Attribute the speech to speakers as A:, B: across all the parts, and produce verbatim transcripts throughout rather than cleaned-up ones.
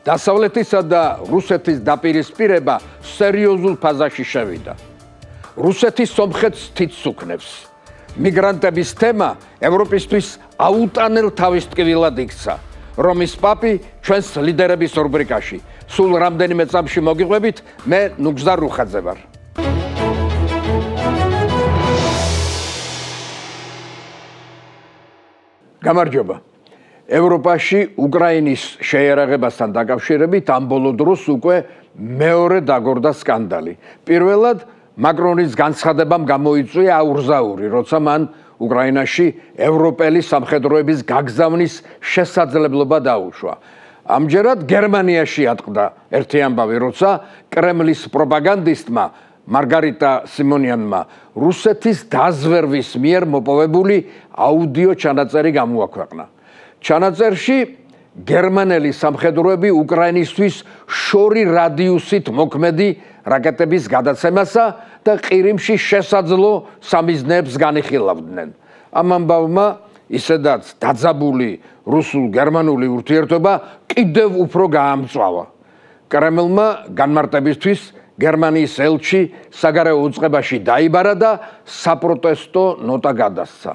A: დასავლეთისა და რუსეთის დაპირისპირება სერიოზულ ფაზაში შევიდა. რუსეთი სომხეთს თითს უქნევს. მიგრანტების თემა ევროპისთვის აუტანელ თავის ტკივილად იქცა. რომის პაპი ჩვენს ლიდერების რუბრიკაში. სულ რამდენიმე წამში მოგიყვებით, მე ნუგზარ რუხაძე ვარ. გამარჯობა. ევროპაში უკრაინის შეიარაღებასთან დაკავშირებით ამ ბოლო დროს უკვე მეორე დაგორდა სკანდალი. პირველად მაკრონის განცხადებამ გამოიწვია აურზაური, როცა მან უკრაინაში ევროპელი სამხედროების გაგზავნის შესაძლებლობა დაუშვა. ამჯერად გერმანიაში ატყდა ერთი ამბავი, როცა კრემლის პროპაგანდისტმა მარგარიტა სიმონიანმა რუსეთის დაზვერვის მიერ მოპოვებული აუდიო ჩანაწერი გამოაქვეყნა. ჩანაწერში გერმანელი სამხედროები უკრაინისთვის შორი რადიუსით მოქმედი რაკეტების გადაცემასა და ყირიმში შესაძლო სამიზნეებს განიხილავდნენ. ამ ამბავმა ისედაც დაძაბული რუსულ-გერმანული ურთიერთობა კიდევ უფრო გაამწვავა. კრემლმა განმარტებისთვის გერმანიის ელჩი საგარეო უწყებაში დაიბარა და საპროტესტო ნოტა გადასცა.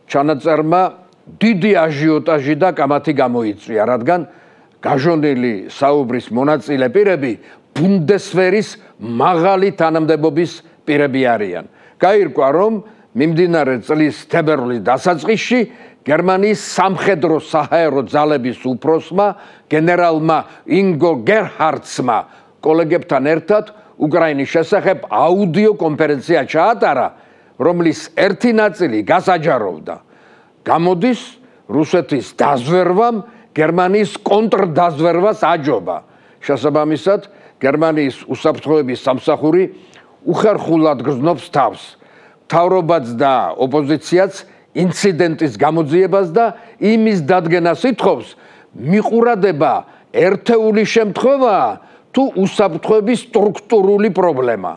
A: ჩანაწერმა დიდი აჟიოტაჟი და კამათი გამოიწვია, რადგან გაჟონილი საუბრის მონაწილე პირები ბუნდესვერის მაღალი თანამდებობის პირები არიან. გაირკვა, რომ მიმდინარე წლის თებერვლის დასაწყისში გერმანიის სამხედრო საჰაერო ძალების უფროსმა გენერალმა ინგო გერჰარდსმა კოლეგებთან ერთად უკრაინის შესახებ აუდიო კონფერენცია ჩაატარა, რომლის ერთი ნაწილი გასაჯაროვდა. გამოდის რუსეთის დაზვერვამ გერმანიის კონტრდაზვერვას აჯობა. შესაბამისად, გერმანიის უსაფრთხოების სამსახური უხერხულად გრძნობს თავს. მთავრობაც და ოპოზიციაც ინციდენტის გამოძიებას და იმის დადგენას ითხოვს, მიყურადება ერთეული შემთხვევაა თუ უსაფრთხოების სტრუქტურული პრობლემა.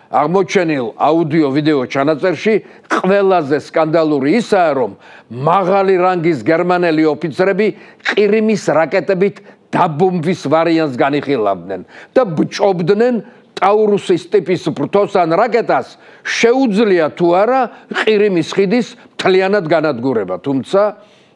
A: აღმოჩენილ აუდიო-ვიდეო ჩანაწერში ყველაზე სკანდალური ისაა, რომ მაღალი რანგის გერმანელი ოფიცრები ყირიმის რაკეტებით დაბომბვის ვარიანტს განიხილავდნენ და ბჭობდნენ ტაურუსის ტიპის ფრთოსან რაკეტას შეუძლია თუ არა ყირიმის ხიდის მთლიანად განადგურება, თუმცა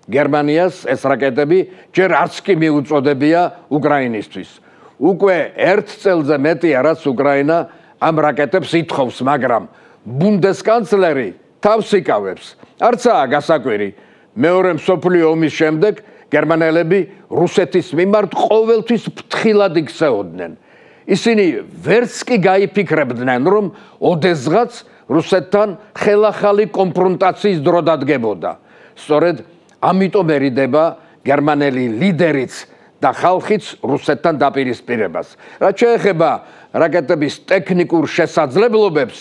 A: გერმანიას ეს რაკეტები ჯერ არც კი მიუწოდებია უკრაინისთვის. უკვე ერთ წელზე მეტია, რაც უკრაინა ამ რაკეტებს ითხოვს, მაგრამ ბუნდესკანცლერი თავს იკავებს. არცაა გასაკვირი, მეორე მსოფლიო ომის შემდეგ გერმანელები რუსეთის მიმართ ყოველთვის ფრთხილად იქცეოდნენ. ისინი ვერც კი გაიფიქრებდნენ, რომ ოდესღაც რუსეთთან ხელახალი კონფრონტაციის დრო დადგებოდა. სწორედ ამიტომ ერიდება გერმანელი ლიდერიც და ხალხიც რუსეთთან დაპირისპირებას. რაც შეეხება რაკეტების ტექნიკურ შესაძლებლობებს,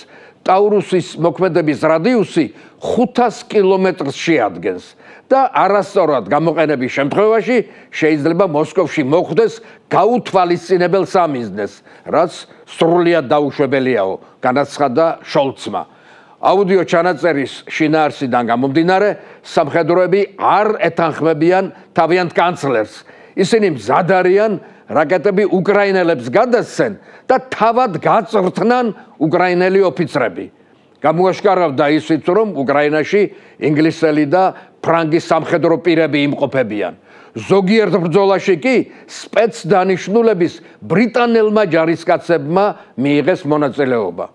A: ტაურუსის მოქმედების რადიუსი ხუთას კილომეტრს შეადგენს და არასწორად გამოყენების შემთხვევაში შეიძლება მოსკოვში მოხვდეს გაუთვალისწინებელ სამიზნეს, რაც სრულიად დაუშვებელიაო, განაცხადა შოლცმა. აუდიო ჩანაწერის შინაარსიდან გამომდინარე, სამხედროები არ ეთანხმებიან თავიანთ კანცლერს. ისინი მზად არიან რაკეტები უკრაინელებს გადასცენ და თავად გაწვრთნან უკრაინელი ოფიცრები. გამოაშკარავდა ისიც, რომ უკრაინაში ინგლისელი და ფრანგი სამხედრო პირები იმყოფებიან. ზოგიერთ ბრძოლაში კი სპეცდანიშნულების ბრიტანელმა ჯარისკაცებმა მიიღეს მონაწილეობა.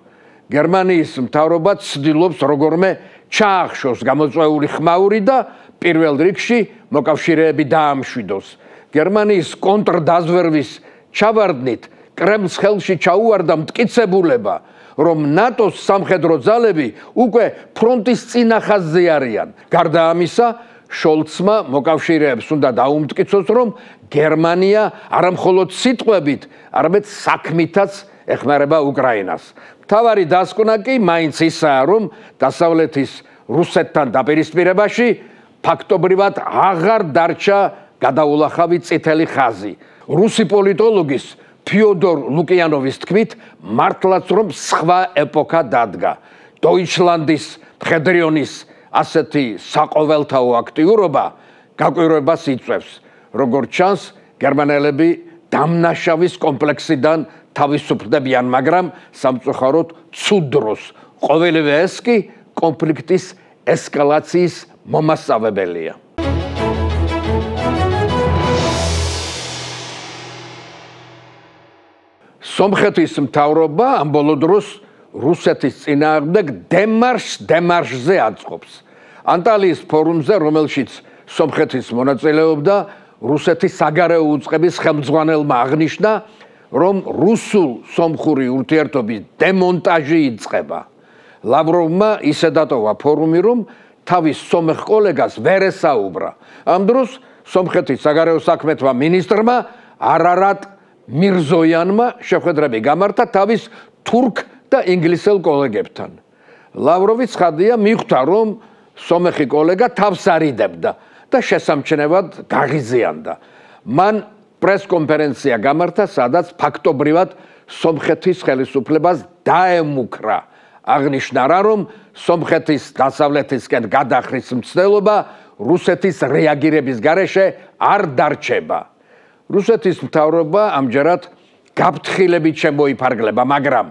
A: გერმანიის მთავრობა ცდილობს როგორმე ჩაახშოს გამოწვეული ხმაური და პირველ რიგში მოკავშირეები დაამშვიდოს. გერმანიის კონტრდაზვერვის ჩავარდნით კრემლს ხელში ჩაუვარდა მტკიცებულება, რომ ნატოს სამხედრო ძალები უკვე ფრონტის წინა ხაზზე არიან. გარდა ამისა, შოლცმა მოკავშირეებს უნდა დაუმტკიცოს, რომ გერმანია არა მხოლოდ სიტყვებით, არამედ საქმითაც ეხმარება უკრაინას. მთავარი დასკვნა კი მაინც ისაა, რომ დასავლეთის რუსეთთან დაპირისპირებაში ფაქტობრივად აღარ დარჩა გადაულახავი წითელი ხაზი. რუსი პოლიტოლოგის ფიოდორ ლუკიანოვის თქმით, მართლაც რომ სხვა ეპოქა დადგა. დოიჩლანდის მხედრიონის ასეთი საყოველთაო აქტიურობა გაკვირვებას იწვევს. როგორც ჩანს, გერმანელები დამნაშავის კომპლექსიდან თავისუფლდებიან, მაგრამ სამწუხაროდ ცუდ დროს. ყოველივე ეს კი კონფლიქტის ესკალაციის მომასწავებელია. სომხეთის მთავრობა ამ ბოლო დროს რუსეთის წინააღმდეგ დემარშ დემარშზე აწყობს. ანტალიის ფორუმზე, რომელშიც სომხეთის მონაწილეობდა, რუსეთის საგარეო უწყების ხელმძღვანელმა აღნიშნა, რომ რუსულ-სომხური ურთიერთობის დემონტაჟი იწყება. ლავროვმა ისე დატოვა ფორუმი, რომ თავის სომეხ კოლეგას ვერ ესაუბრა. ამ დროს სომხეთის საგარეო საქმეთა მინისტრმა არარატ მირზოიანმა შეხვედრები გამართა თავის თურქ და ინგლისელ კოლეგებთან. ლავროვი ცხადია მიხვდა, რომ სომეხი კოლეგა თავს არიდებდა და შესამჩნევად გაღიზიანდა. მან პრესკონფერენცია გამართა, სადაც ფაქტობრივად სომხეთის ხელისუფლებას დაემუქრა. აღნიშნა რა, რომ სომხეთის დასავლეთისკენ გადახრის მცდელობა რუსეთის რეაგირების გარეშე არ დარჩება. რუსეთის მთავრობა ამჯერად გაფრთხილებით შემოიფარგლება, მაგრამ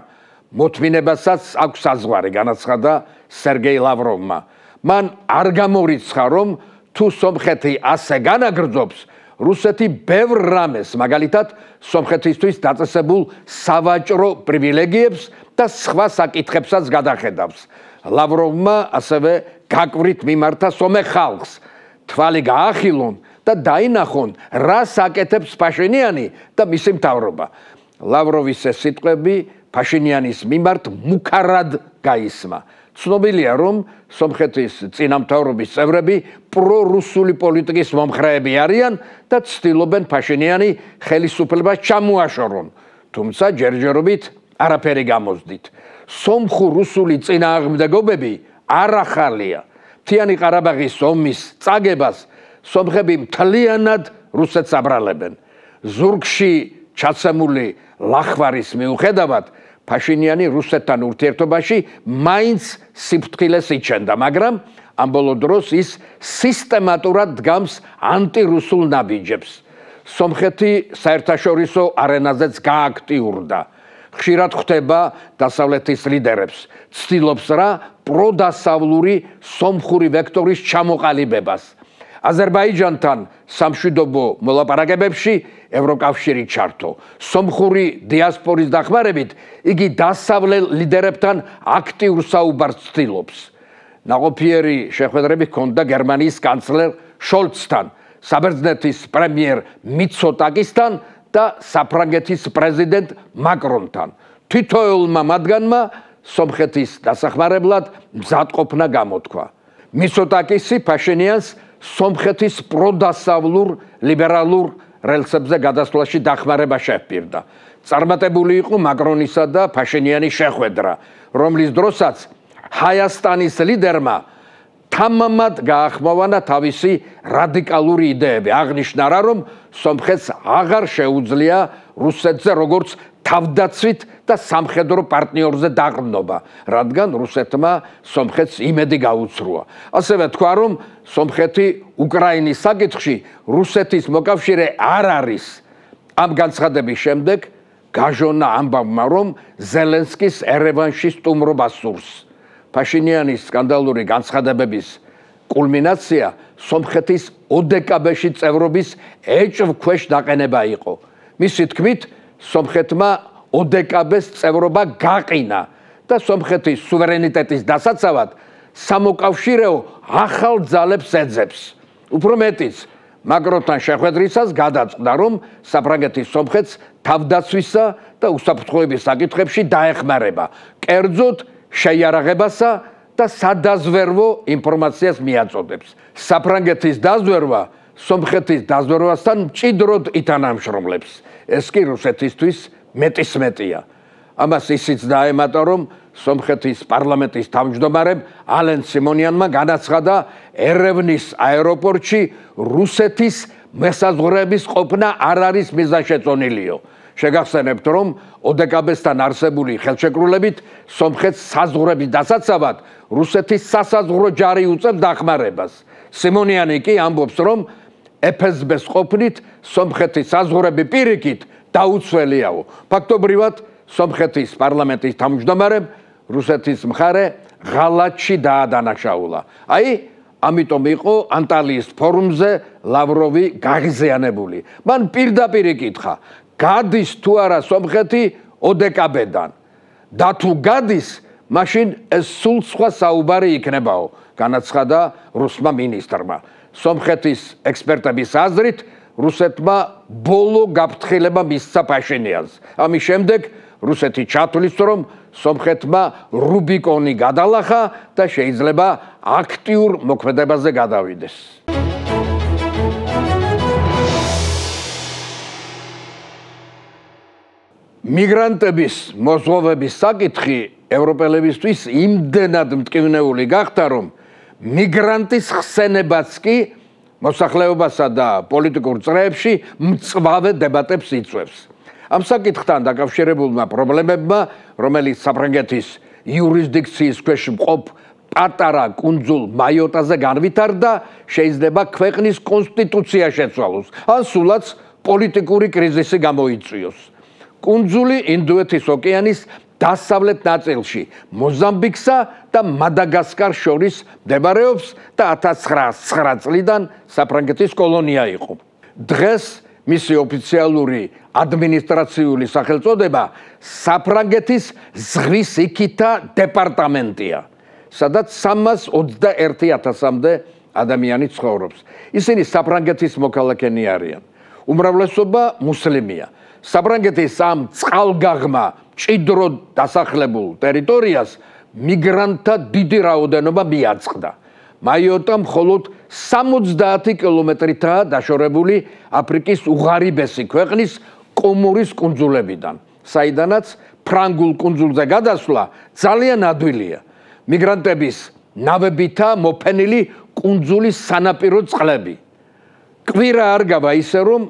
A: მოთმინებასაც აქვს საზღვარი, განაცხადა სერგეი ლავროვმა. მან არ გამორიცხა, რომ თუ სომხეთი ასე განაგრძობს, რუსეთი ბევრ რამეს, მაგალითად, სომხეთისთვის დაწესებულ სავაჭრო პრივილეგიებს და სხვა საკითხებსაც გადახედავს. ლავროვმა ასევე გაკვრით მიმართა სომეხ ხალხს, თვალი გაახილონ და დაინახონ, რა საკეთებს ფაშინიანი და მისი მთავრობა. ლავროვის ეს სიტყვები ფაშინიანის მიმართ მუქარად გაისმა. ცნობილია, რომ სომხეთის წინამთავრობის წევრები პრორუსული პოლიტიკის მომხრეები არიან და ცდილობენ ფაშინიანი ხელისუფლებას ჩამოაშორონ, თუმცა ჯერჯერობით არაფერი გამოსდით. სომხურ-რუსული წინააღმდეგობები არ ახალია. მთიანი ყარაბაღის ომის წაგებას სომხები მთლიანად რუსეთს აბრალებენ. ზურგში ჩაცემული ლახვარის მიუხედავად ფაშინიანი რუსეთთან ურთიერთობაში მაინც სიფრთხილეს იჩენდა, მაგრამ ამ ბოლო დროს ის სისტემატურად დგამს ანტირუსულ ნაბიჯებს. სომხეთი საერთაშორისო არენაზეც გააქტიურდა. ხშირად ხვდება დასავლეთის ლიდერებს, ცდილობს რა პროდასავლური სომხური ვექტორის ჩამოყალიბებას. აზერბაიჯანთან სამშვიდობო მოლაპარაკებებში ევროკავშირი ჩართო. სომხური დიასპორის დახმარებით იგი დასავლელ ლიდერებთან აქტიურ საუბარს ცდილობს. ნაყოფიერი შეხვედრები ჰქონდა გერმანიის კანცლერ შოლცთან, საბერძნეთის პრემიერ მიცოტაკისთან და საფრანგეთის პრეზიდენტ მაკრონთან. თითოეულმა მათგანმა სომხეთის დასახმარებლად მზადყოფნა გამოთქვა. მიცოტაკისი ფაშინიანს სომხეთის პროდასავლურ ლიბერალურ რელსებზე გადასვლაში დახმარება შეჰპირდა. წარმატებული იყო მაკრონისა და ფაშინიანის შეხვედრა, რომლის დროსაც ჰაიასტანის ლიდერმა თამამად გაახმოვანა თავისი რადიკალური იდეები. აღნიშნა რა, რომ სომხეთს აღარ შეუძლია რუსეთზე როგორც თავდაცვით და სამხედრო პარტნიორზე დაყრდნობა, რადგან რუსეთმა სომხეთს იმედი გაუცრუა. ასევე თქვა, რომ სომხეთი უკრაინის საკითხში რუსეთის მოკავშირე არ არის. ამ განცხადების შემდეგ გაჟონა ამბავმა, რომ ზელენსკის ერევანში სტუმრობა სურს. ფაშინიანის სკანდალური განცხადებების კულმინაცია სომხეთის ოდეკაბეში წევრობის ეჭვქვეშ დაყენება იყო. მისი თქმით, სომხეთმა ოდეკაბეს წევრობა გაყინა და სომხეთის სუვერენიტეტის დასაცავად სამოკავშირეო ახალ ძალებს ეძებს. უფრო მეტიც, მაკრონთან შეხვედრისას გადაწყდა, რომ საფრანგეთის სომხეთს თავდაცვისა და უსაფრთხოების საკითხებში დაეხმარება, კერძოდ შეიარაღებასა და სადაზვერვო ინფორმაციას მიაწოდებს. საფრანგეთის დაზვერვა სომხეთის დაზვერვასთან მჭიდროდ ითანამშრომლებს. ეს კი რუსეთისთვის მეტისმეტია. ამას ისიც დაემატა, რომ სომხეთის პარლამენტის თავმჯდომარემ ალენ სიმონიანმა განაცხადა ერევნის აეროპორტში რუსეთის მესაზღვრეების ყოფნა არ არის მიზანშეწონილიო. შეგახსენებთ, რომ ოდეკაბესთან არსებული ხელშეკრულებით სომხეთს საზღვრების დასაცავად რუსეთის სასაზღვრო ჯარი უწევს დახმარებას. სიმონიანი კი ამბობს, რომ ეფ ეს ბეს ყოფნით სომხეთის საზღვრები პირიქით დაუცველიაო. ფაქტობრივად სომხეთის პარლამენტის თავმჯდომარემ რუსეთის მხარე ღალატში დაადანაშაულა. აი, ამიტომ იყო ანტალიის ფორუმზე ლავროვი გაღიზიანებული. მან პირდაპირ იკითხა, გადის თუ არა სომხეთი ო დე კა ბე-დან და თუ გადის, მაშინ ეს სულ სხვა საუბარი იქნებაო, განაცხადა რუსმა მინისტრმა. სომხეთის ექსპერტების აზრით, რუსეთმა ბოლო გაფრთხილება მისცა პაშინიანს. ამის შემდეგ რუსეთი ჩათვლის, რომ სომხეთმა რუბიკონი გადალახა და შეიძლება აქტიურ მოქმედებაზე გადავიდეს. მიგრანტების მოზღვავების საკითხი ევროპელებისთვის იმდენად მტკივნეული გახდა, რომ მიგრანტის ხსენებაც კი მოსახლეობასა და პოლიტიკურ წრეებში მწვავე დებატებს იწვევს. ამ საკითხთან დაკავშირებულმა პრობლემებმა, რომელიც საფრანგეთის იურისდიქციის ქვეშ მყოფ პატარა კუნძულ მაიოტაზე განვითარდა, შეიძლება ქვეყნის კონსტიტუცია შეცვალოს, ან სულაც პოლიტიკური კრიზისი გამოიწვიოს. კუნძული ინდოეთის ოკეანის დასავლეთ ნაწილში, მოზამბიკსა და მადაგასკარს შორის მდებარეობს და ათას ცხრაას ცხრა წლიდან საფრანგეთის კოლონია იყო. დღეს მისი ოფიციალური ადმინისტრაციული სახელწოდება საფრანგეთის ზღვის იქითა დეპარტამენტია, სადაც სამას ოცდაერთი ათასამდე ადამიანი ცხოვრობს. ისინი საფრანგეთის მოქალაქენი არიან. უმრავლესობა მუსლიმია. საფრანგეთის ამ წყალგაღმა ჭიდროდ დასახლებულ ტერიტორიას მიგრანტთა დიდი რაოდენობა მიაწყდა. მაიოტა მხოლოდ სამოცდაათი კილომეტრითაა დაშორებული აფრიკის უღარიბესი ქვეყნის კომორის კუნძულებიდან, საიდანაც ფრანგულ კუნძულზე გადასვლა ძალიან ადვილია. მიგრანტების ნავებითაა მოფენილი კუნძულის სანაპირო წყლები. კვირა არ გავა ისე, რომ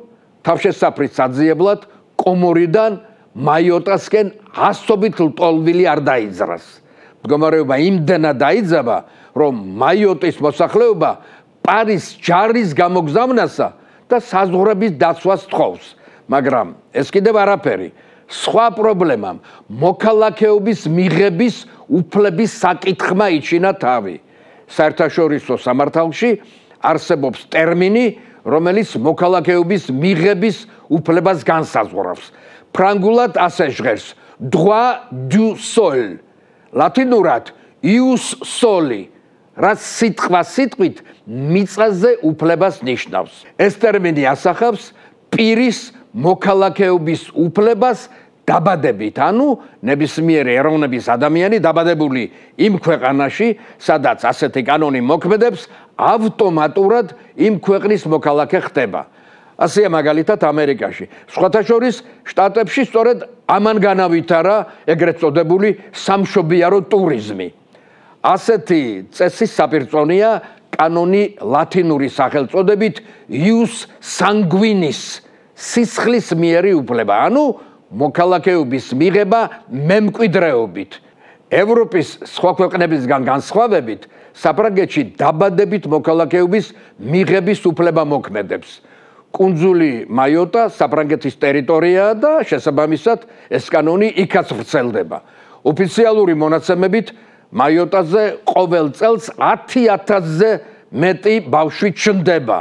A: თავშესაფრის საძიებლად კომორიდან მაიოტასკენ ასობით ლტოლვილი არ დაიძრას. მდგომარეობა იმდენად დაიძაბა, რომ მაიოტის მოსახლეობა პარის ჯარის გამოგზავნასა და საზღვრების დაცვას თხოვს. მაგრამ ეს კიდევ არაფერი. სხვა პრობლემამ მოქალაქეობის მიღების უფლების საკითხმა იჩინა თავი. საერთაშორისო სამართალში არსებობს ტერმინი, რომელიც მოქალაქეობის მიღების უფლებას განსაზღვრავს. ფრანგულად ასე ჟღერს droit du sol, ლათინურად ius soli, რაც სიტყვა სიტყვით მიწაზე უფლებას ნიშნავს. ეს ტერმინი ასახავს პირის მოქალაქეობის უფლებას დაბადებით, ანუ ნებისმიერი ეროვნების ადამიანი დაბადებული იმ ქვეყანაში, სადაც ასეთი კანონი მოქმედებს, ავტომატურად იმ ქვეყნის მოქალაქე ხდება. ასეა მაგალითად ამერიკაში. სხვათა შორის შტატებში სწორედ ამან განავითარა ეგრეთ წოდებული სამშობიარო ტურიზმი. ასეთი წესის საპირწონეა კანონი ლათინური სახელწოდებით ius sanguinis, სისხლის მიერი უფლება, ანუ მოქალაქეობის მიღება მემკვიდრეობით. ევროპის სხვა ქვეყნებისგან განსხვავებით, საფრანგეთში დაბადებით მოქალაქეობის მიღების უფლება მოქმედებს. კუნძული მაიოტა საფრანგეთის ტერიტორიაა და შესაბამისად ეს კანონი იქაც ვრცელდება. ოფიციალური მონაცემებით მაიოტაზე ყოველ წელს ათი ათასზე მეტი ბავშვი ჩნდება.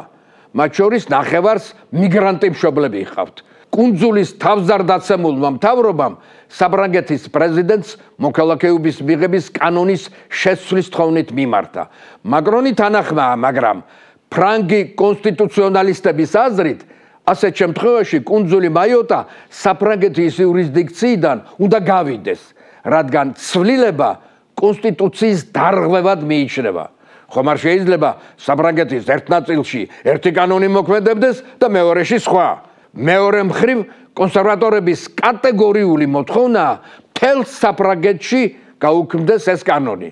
A: მათ შორის ნახევარს მიგრანტი მშობლები ჰყავთ. კუნძულის თავზარდაცემულმა მთავრობამ საფრანგეთის პრეზიდენტს მოქალაქეობის მიღების კანონის შეცვლის თხოვნით მიმართა. მაკრონი თანახმაა, მაგრამ ფრანგი კონსტიტუციონალისტების აზრით, ასეთ შემთხვევაში კუნძული მაიოტა საფრანგეთის იურისდიქციიდან უნდა გავიდეს, რადგან ცვლილება კონსტიტუციის დარღვევად მიიჩნევა. ხომ არ შეიძლება საფრანგეთის ერთ ნაწილში ერთი კანონი მოქმედებდეს და მეორეში სხვა. მეორე მხრივ კონსერვატორების კატეგორიული მოთხოვნაა მთელ საფრანგეთში გაუქმდეს ეს კანონი.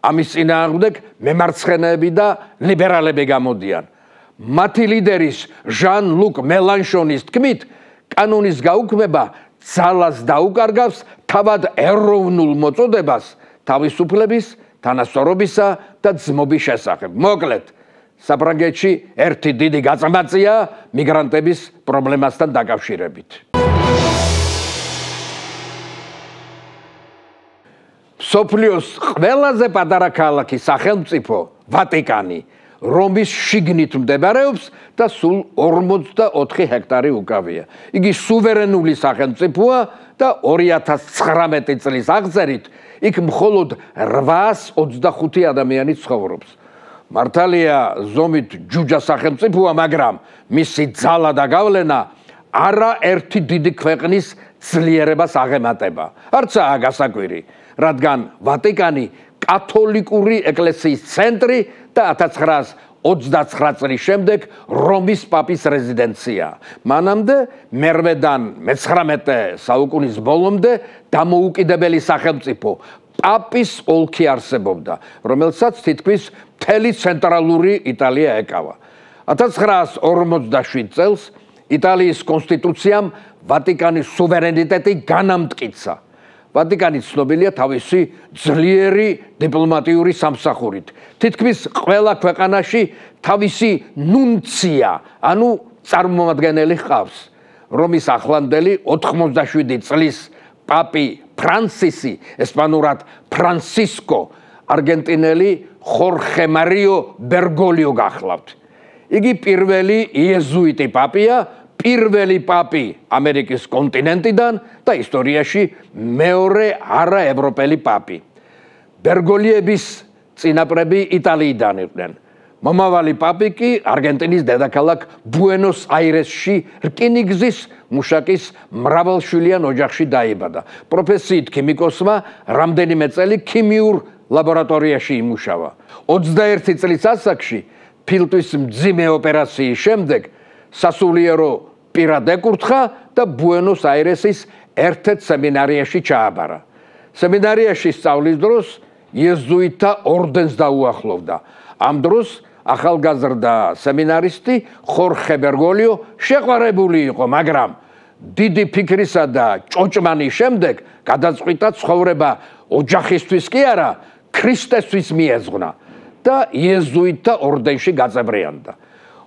A: ამის წინააღმდეგ მემარცხენეები და ლიბერალები გამოდიან. მათი ლიდერის ჟან-ლუკ მელანშონის თქმით, კანონის გაუქმება ძალას დაუკარგავს თავად ეროვნულ მოწოდებას თავისუფლების, თანასწორობისა და ძმობის შესახებ. მოკლედ, საფრანგეთში ერთი დიდი გაწმაცია მიგრანტების პრობლემასთან დაკავშირებით. მსოფლიოს ყველაზე პატარა ქალაქი სახელმწიფო ვატიკანი რომის შიგნით მდებარეობს და სულ ორმოცდაოთხი ჰექტარი უკავია. იგი სუვერენული სახელმწიფოა და ორი ათას ცხრამეტი წლის აღწერით იქ მხოლოდ რვაას ოცდახუთი ადამიანი ცხოვრობს. მართალია ზომით ჯუჯა სახელმწიფოა, მაგრამ მისი ძალა და გავლენა არაერთი დიდი ქვეყნის ძლიერებას აღემატება. არცაა გასაკვირი, რადგან ვატიკანი კათოლიკური ეკლესიის ცენტრი და ათას ცხრაას ოცდაცხრა წლის შემდეგ რომის პაპის რეზიდენცია. მანამდე მერვედან მეცხრამეტე საუკუნის ბოლომდე დამოუკიდებელი სახელმწიფო პაპის ოლქი არსებობდა, რომელსაც თითქმის მთელი ცენტრალური იტალია ეკავა. ათას ცხრაას ორმოცდაშვიდ წელს იტალიის კონსტიტუციამ ვატიკანის სუვერენიტეტი განამტკიცა. ვატიკანი ცნობილია თავისი ძლიერი დიპლომატიური სამსახურით. თითქმის ყველა ქვეყანაში თავისი ნუნცია, ანუ წარმომადგენელი ჰყავს. რომის ახლანდელი ოთხმოცდაშვიდი წლის პაპი ფრანსისი, ესპანურად ფრანსისკო, არგენტინელი ხორხე მარიო ბერგოლიო გახლავთ. იგი პირველი იეზუიტი პაპია, პირველი პაპი ამერიკის კონტინენტიდან და ისტორიაში მეორე არაევროპელი პაპი. ბერგოლიების წინაპრები იტალიიდან იყვნენ. მომავალი პაპი კი არგენტინის დედაქალაქ ბუენოს აირესში რკინიგზის მუშაკის მრავალშვილიან ოჯახში დაიბადა. პროფესიით ქიმიკოსმა რამდენიმე წელი ქიმიურ ლაბორატორიაში იმუშავა. ოცდაერთი წლის ასაკში ფილტვის მძიმე ოპერაციის შემდეგ სასულიერო პირად ეკურთხა და ბუენოს აირესის ერთ-ერთ სემინარიაში ჩააბარა. სემინარიაში სწავლის დროს იეზუიტთა ორდენს დაუახლოვდა. ამ დროს ახალგაზრდა სემინარისტი ხორხე ბერგოლიო შეყვარებული იყო, მაგრამ დიდი ფიქრისა და ჭოჭმანის შემდეგ გადაწყვიტა ცხოვრება ოჯახისთვის კი არა, ქრისტესთვის მიეძღვნა და იეზუიტთა ორდენში გაწევრიანდა.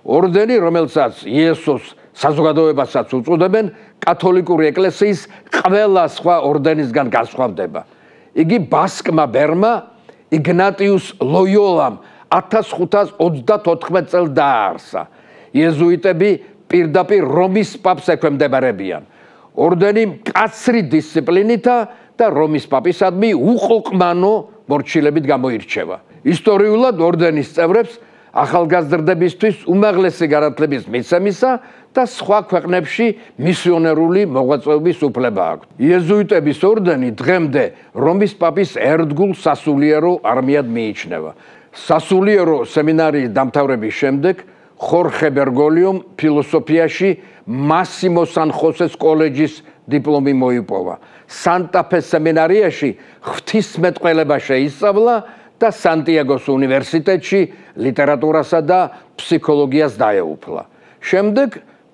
A: ორდენი, რომელსაც იესოს საზოგადოებასაც უწოდებენ, კათოლიკური ეკლესიის ყველა სხვა ორდენისგან განსხვავდება. იგი ბასკმა ბერმა იგნატიუს ლოიოლამ ათას ხუთას ოცდათოთხმეტ წელს დააარსა. იეზუიტები პირდაპირ რომის პაპს ექვემდებარებიან. ორდენი მკაცრი დისციპლინითა და რომის პაპისადმი უყოყმანო მორჩილებით გამოირჩევა. ისტორიულად ორდენის წევრებს ახალგაზრდებისთვის უმაღლესი განათლების მიცემისა და სხვა ქვეყნებში მისიონერული მოღვაწეობის უფლება აქვთ. იეზუიტების ორდენი დღემდე რომის პაპის ერთგულ სასულიერო არმიად მიიჩნევა. სასულიერო სემინარიის დამთავრების შემდეგ ხორხე ბერგოლიომ ფილოსოფიაში მასიმო სან-ხოსეს კოლეჯის დიპლომი მოიპოვა. სანტა-ფეს სემინარიაში ღვთისმეტყველება შეისწავლა და სანტიაგოს უნივერსიტეტში ლიტერატურასა და ფსიქოლოგიას დაეუფლა. შემდეგ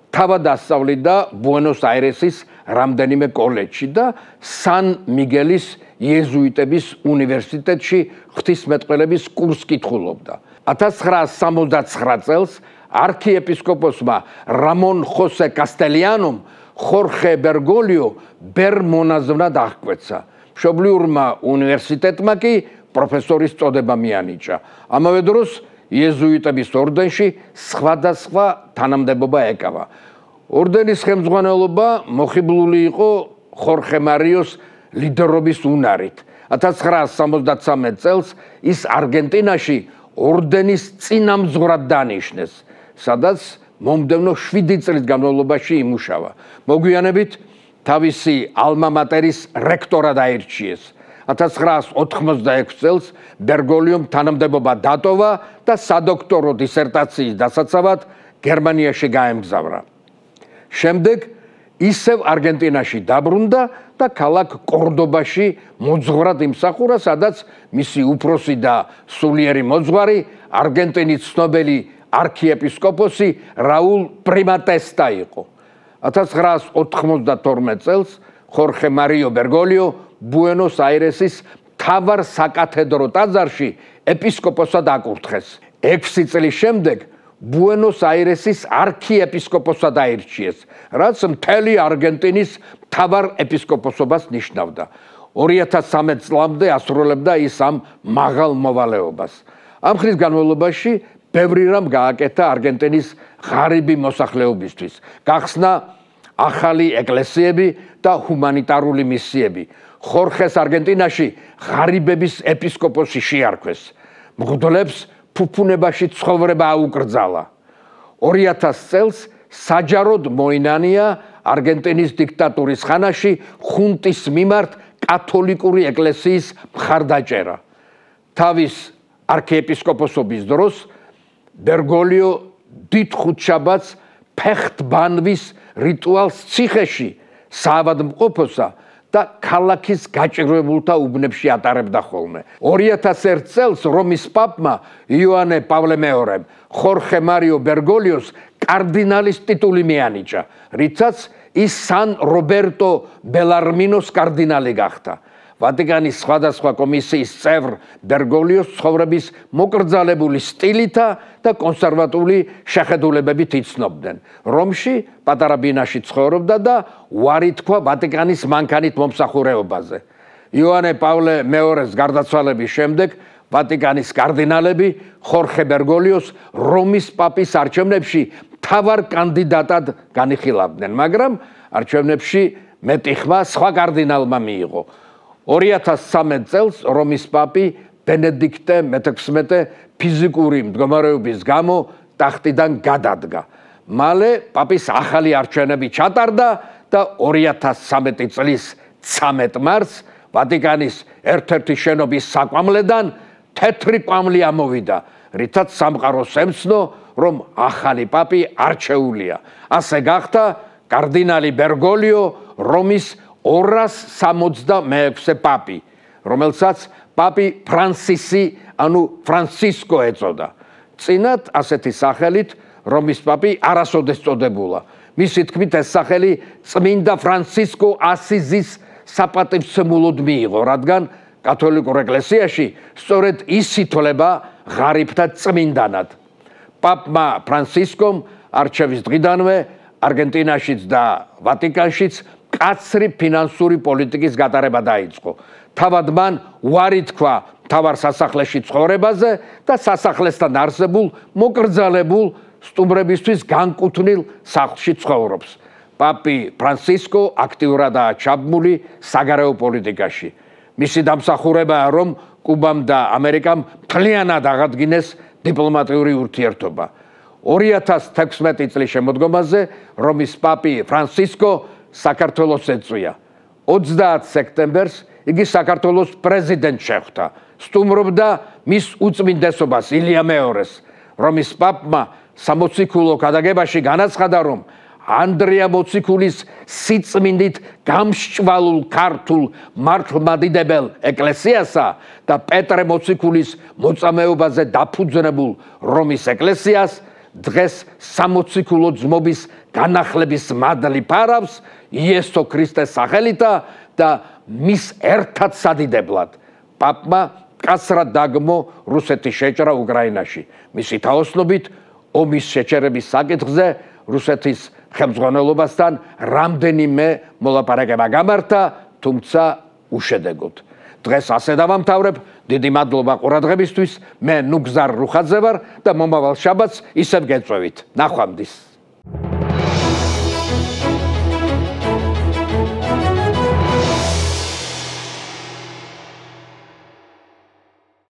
A: თავად ასწავლიდა ბუენოს აირესის რამდენიმე კოლეჯში და სან მიგელის იეზუიტების უნივერსიტეტში ღვთისმეტყველების კურსს კითხულობდა. ათას ცხრაას სამოცდაცხრა წელს არქიეპისკოპოსმა რამონ ხოსე კასტელიანომ ხორხე ბერგოლიო ბერ მონაზვნად აღკვეცა. მშობლიურმა უნივერსიტეტმა კი პროფესორის წოდება მიანიჭა. ამავე დროს იეზუიტების ორდენში სხვადასხვა თანამდებობა ეკავა. ორდენის ხელმძღვანელობა მოხიბლული იყო ხორხე მარიოს ლიდერობის უნარით. ათას ცხრაას სამოცდაცამეტ წელს ის არგენტინაში ორდენის წინამძღვრად დანიშნეს, სადაც მომდევნო შვიდი წლის განმავლობაში იმუშავა. მოგვიანებით თავისი ალმა მატერის რექტორად აირჩიეს. ათას ცხრაას ოთხმოცდაექვსი წელს ბერგოლიომ თანამდებობა დატოვა და სადოქტორო დისერტაციის დასაცავად გერმანიაში გაემგზავრა. შემდეგ ისევ არგენტინაში დაბრუნდა და ქალაქ კორდობაში მოძღვრად იმსახურა, სადაც მისი უფროსი და სულიერი მოძღვარი არგენტინის ცნობილი არქიეპისკოპოსი რაულ პრიმატესტა იყო. ათას ცხრაას ოთხმოცდათორმეტ წელს ხორხე მარიო ბერგოლიო ბუენოს აირესის მთავარ საკათედრო ტაძარში ეპისკოპოსად აკურთხეს. ექვსი წლის შემდეგ ბუენოს-აირესის არქიეპისკოპოსად აირჩიეს, რაც მთელი არგენტინის მთავარ ეპისკოპოსობას ნიშნავდა. ორი ათას სამი წლამდე ასრულებდა ის ამ მაღალ მოვალეობას. ამ ხნის განმავლობაში ბევრი რამ გააკეთა არგენტინის ღარიბი მოსახლეობისთვის. გახსნა ახალი ეკლესიები და ჰუმანიტარული მისიები. ხორხეს არგენტინაში ღარიბების ეპისკოპოსი შეარქვეს. მღვდლებს ფუფუნებაში ცხოვრება აუკრძალა. ორი ათას წელს საჯაროდ მოინანია არგენტინის დიქტატურის ხანაში ხუნტის მიმართ კათოლიკური ეკლესიის მხარდაჭერა. თავის არქიეპისკოპოსობის დროს ბერგოლიო დიდ ხუთშაბათს ფეხტბანვის რიტუალს ციხეში საავადმყოფოსა და ქალაქის გაჭირვებულთა უბნებში ატარებდა ხოლმე. ორი ათას ერთ წელს რომის პაპმა იოანე პავლე მეორემ ხორხე მარიო ბერგოლიოს კარდინალის ტიტული მიანიჭა, რითაც ის სან რობერტო ბელარმინოს კარდინალი გახდა. ვატიკანის სხვადასხვა კომისიის წევრ ბერგოლიოს ცხოვრების მოკრძალებული სტილითა და კონსერვატული შეხედულებებით იცნობდნენ. რომში პატარა ბინაში ცხოვრობდა და უარი თქვა ვატიკანის მანქანით მომსახურეობაზე. იოანე პავლე მეორეს გარდაცვალების შემდეგ ვატიკანის კარდინალები ხორხე ბერგოლიოს რომის პაპის არჩევნებში მთავარ კანდიდატად განიხილავდნენ, მაგრამ არჩევნებში მეტი ხმა სხვა კარდინალმა მიიღო. ორი ათას სამი წელს რომის პაპი ბენედიქტე მეთექვსმეტე ფიზიკური მდგომარეობის გამო ტახტიდან გადადგა. მალე პაპის ახალი არჩევნები ჩატარდა და ორი ათას სამი წლის ცამეტ მარტს ვატიკანის ერთ-ერთი შენობის საკვამლედან თეთრი კვამლი ამოვიდა, რითაც სამყაროს ემცნო, რომ ახალი პაპი არჩეულია. ასე გახდა კარდინალი ბერგოლიო რომის ორას სამოცდამეექვსე პაპი, რომელსაც პაპი ფრანსისი, ანუ ფრანცისკო ეწოდა. წინათ ასეთი სახელით რომის პაპი არასოდეს წოდებულა. მისი თქმით ეს სახელი წმინდა ფრანცისკო ასიზის საპატივცემულოდ მიიღო, რადგან კათოლიკურ ეკლესიაში სწორედ ის ითვლება ღარიბთა წმინდანად. პაპმა ფრანცისკომ არჩევის დღიდანვე არგენტინაშიც და ვატიკანშიც კაცრი ფინანსური პოლიტიკის გატარება დაიწყო. თავად მან უარი თქვა მთავარ სასახლეში ცხოვრებაზე და სასახლესთან არსებულ მოკრძალებულ სტუმრებისთვის განკუთვნილ სახლში ცხოვრობს. პაპი ფრანცისკო აქტიურადაა ჩაბმული საგარეო პოლიტიკაში. მისი დამსახურებაა, რომ კუბამ და ამერიკამ მთლიანად აღადგინეს დიპლომატიური ურთიერთობა. ორი ათას თექვსმეტი წლის შემოდგომაზე რომის პაპი ფრანცისკო საქართველოს ეწვია. ოცდაათ სექტემბერს იგი საქართველოს პრეზიდენტ შეხვდა. სტუმრობდა მის უწმინდესობას ილია მეორეს. რომის პაპმა სამოციქულო გადაგებაში განაცხადა, რომ ანდრია მოციქულის სიწმინდით გამსჭვალულ ქართულ მართლმადიდებელ ეკლესიასა და პეტრე მოციქულის მოწამეობაზე დაფუძნებულ რომის ეკლესიას დღეს სამოციქულო ძმობის განახლების მადლი ფარავს იესო ქრისტეს სახელითა და მის ერთად სადიდებლად. პაპმა კაცრად დაგმო რუსეთის შეჭრა უკრაინაში. მისი თაოსნობით ომის შეჩერების საკითხზე რუსეთის ხელმძღვანელობასთან რამდენიმე მოლაპარაკება გამართა, თუმცა უშედეგოდ. დღეს ასე დავამთავრებ. დიდი მადლობა ყურადღებისთვის. მე ნუგზარ რუხაძე ვარ და მომავალ შაბათს ისევ გეწვევით. ნახვამდის.